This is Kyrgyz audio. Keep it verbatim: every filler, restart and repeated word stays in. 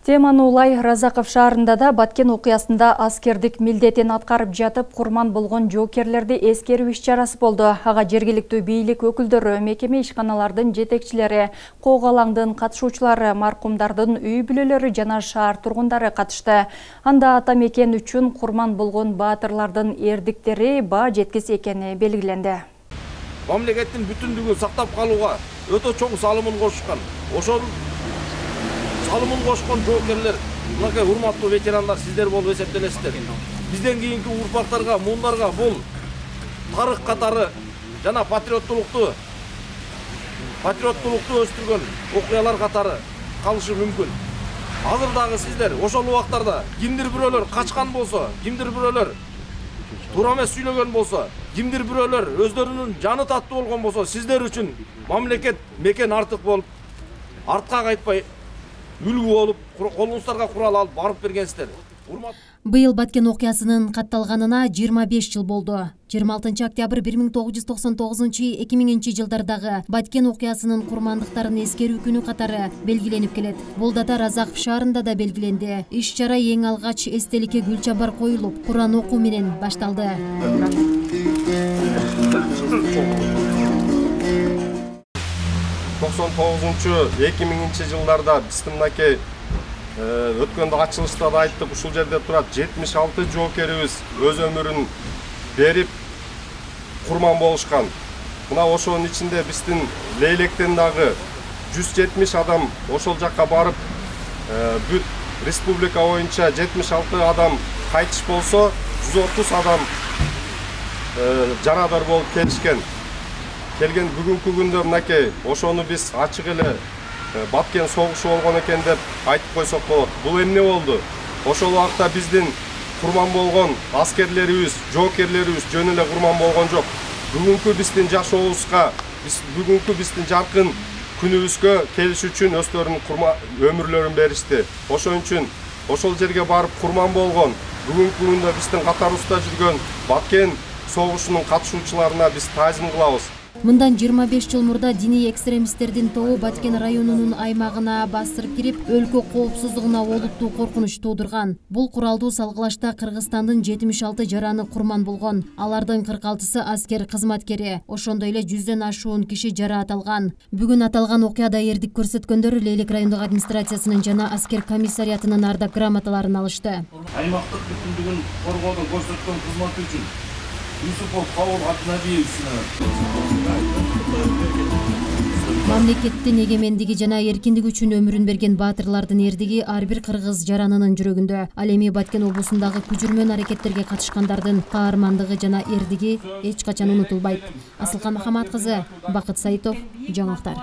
Теманы улай Разаков шаарында да Баткен окуясында аскердик милдетин аткарып жатып курман болгон жоокерлерди эскерүү иш-чарасы болду. Ага жергиликтүү бийлик өкүлдөрү, мекеме ишканалардын жетекчилери, кок алаңдын катышуучулары, маркумдардын үй бүлөлөрү жана шаар тургундары катышты. Анда ата мекен үчүн курман болгон баатырлардын эрдиктери баа жеткис экени белгиленди. Мамлекеттин бүтүндүгүн сактап калууга өтө чоң салымын кошкан. Ошол салымын кошкон жоокерлер, мынакей урматтуу ветерандар, сиздер болуп эсептелесиздер. Бизден кийинки урпактарга, муундарга бул тарых катары жана патриоттулукту патриоттулукту өстүргөн окуялар катары калышы мүмкүн. Азыр дагы сиздер ошол убактарда кимдир бирөөлөр качкан болсо, кимдир бирөөлөр туура эмес сүйлөгөн болсо, кимдир бирөөлөр өздөрүнүн жаны таттуу болгон болсо, сиздер үчүн мамлекет мекен артык болуп, артка кайтпай үлгү болуп, колуңуздарга курал алып барып бергенсиздер. Быйыл Баткен окуясынын катталганына жыйырма беш жыл болду. жыйырма алтынчы октябрь бир миң тогуз жүз токсон тогузунчу — эки миңинчи жылдардагы Баткен окуясынын курмандыктарын эскерүү күнү катары белгиленип келет. Бул дата Разаков шаарында да белгиленди. Иш-чара эң алгач эстеликке гүл чамбар коюлуп, Куран окуу менен башталды. токсон тогузунчу — эки миңинчи жылдарда биз мынакей өткөндө ачылышта да айттык, ушул жерде турат жетимиш алты жоокерибиз өз өмүрүн берип курман болушкан. Мына ошонун ичинде биздин Лейлектен дагы жүз жетимиш адам ошол жакка барып, бүт республика боюнча жетимиш алты адам кайтыш болсо, жүз отуз адам жарадар болуп келишкен. Келген бүгүнкү күндө мынакей ошону биз ачык эле Баткен согушу болгон экен деп айтып койсок болот. Бул эмне болду? Ошол убакта биздин курман болгон аскерлерибиз, жоокерлерибиз жөн эле курман болгон жок. Бүгүнкү биздин жашообузга, биз бүгүнкү биздин жаркын күнүбүзгө келиш үчүн өздөрүнүн өмүрлөрүн беришти. Ошон үчүн ошол жерге барып курман болгон, бүгүнкү күндө биздин катарыбызда жүргөн Баткен согушунун катышуучуларына биз таазим кылабыз. Мындан жыйырма беш жыл мурда диний экстремисттердин тобу Баткен районунун аймагына басырып кирип, өлкө коопсуздугуна олуттуу коркунуч туудурган. Бул куралдуу салгылашта Кыргызстандын жетимиш алты жараны курман болгон. Алардын кырк алтысы аскер кызматкери, ошондой эле жүздөн ашуун киши жараат алган. Бүгүн аталган окуяда эрдик көрсөткөндөр Лейлек райондук администрациясынын жана аскер комиссариятынын ардак грамоталарын алышты. Аймактык бүтүндүгүн коргоодо көрсөткөн кызматы үчүн Юсупов Кабыл Атнабиевичине мамлекеттин эгемендиги жана эркиндиги үчүн өмүрүн берген баатырлардын эрдиги ар бир кыргыз жаранынын жүрөгүндө. Ал эми Баткен облусундагы күжүрмөн аракеттерге катышкандардын каармандыгы жана эрдиги эч качан унутулбайт. Асылкан Махамат кызы, Бакыт Саитов, жаңылыктар.